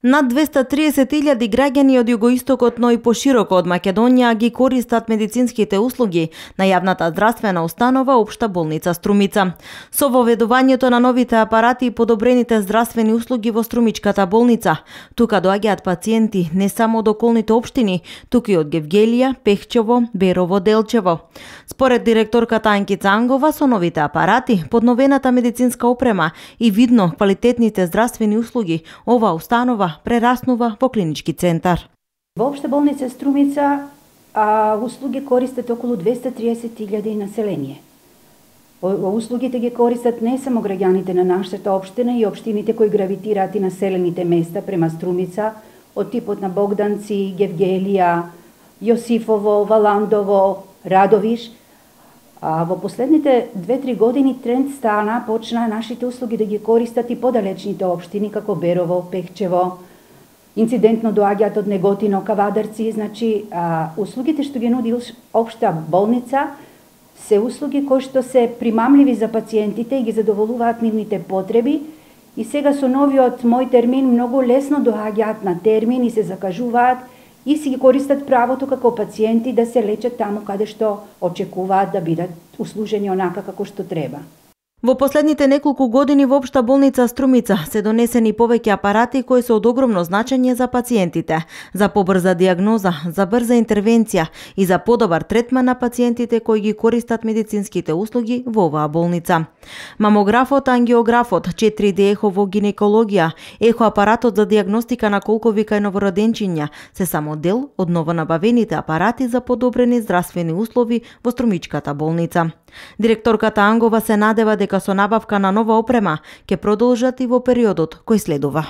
Над 230.000 граѓани од југоистокот, но и пошироко од Македонија ги користат медицинските услуги на јавната здравствена установа Општа болница Струмица. Со воведувањето на новите апарати и подобрените здравствени услуги во Струмичката болница, тука доаѓаат пациенти не само од околните општини, туку и од Гевгелија, Пехчево, Берово, Делчево. Според директорката Анкица Ангова, со новите апарати, подновената медицинска опрема и видно квалитетните здравствени услуги, оваа установа прераснува во клинички центар. Во Општа болница Струмица услуги користат околу 230.000 население. Услугите ги користат не само граѓаните на нашата општина и општините кои гравитираат и населените места према Струмица, од типот на Богданци, Гевгелија, Јосифово, Валандово, Радовиш. Во последните 2-3 години тренд стана, почна нашите услуги да ги користат и подалечните општини како Берово, Пехчево, инцидентно доаѓаат од Неготино, Кавадарци. Значи, услугите што ги нуди Општа болница се услуги кои што се примамливи за пациентите и ги задоволуваат нивните потреби. И сега со новиот мој термин многу лесно доаѓаат на термин и се закажуваат и си ги користат правото како пациенти да се лечат таму каде што очекуваат да бидат услужени онака како што треба. Во последните неколку години во Општа болница Струмица се донесени повеќе апарати кои се од огромно значење за пациентите, за побрза диагноза, за брза интервенција и за подобар третман на пациентите кои ги користат медицинските услуги во оваа болница. Мамографот, ангиографот, 4D ехо во гинекологија, ехоапаратот за диагностика на колковика и новороденчиња се само дел од новонабавените апарати за подобрени здравствени услови во Струмичката болница. Директорката Ангова се надева дека со набавка на нова опрема ќе продолжат и во периодот кој следува.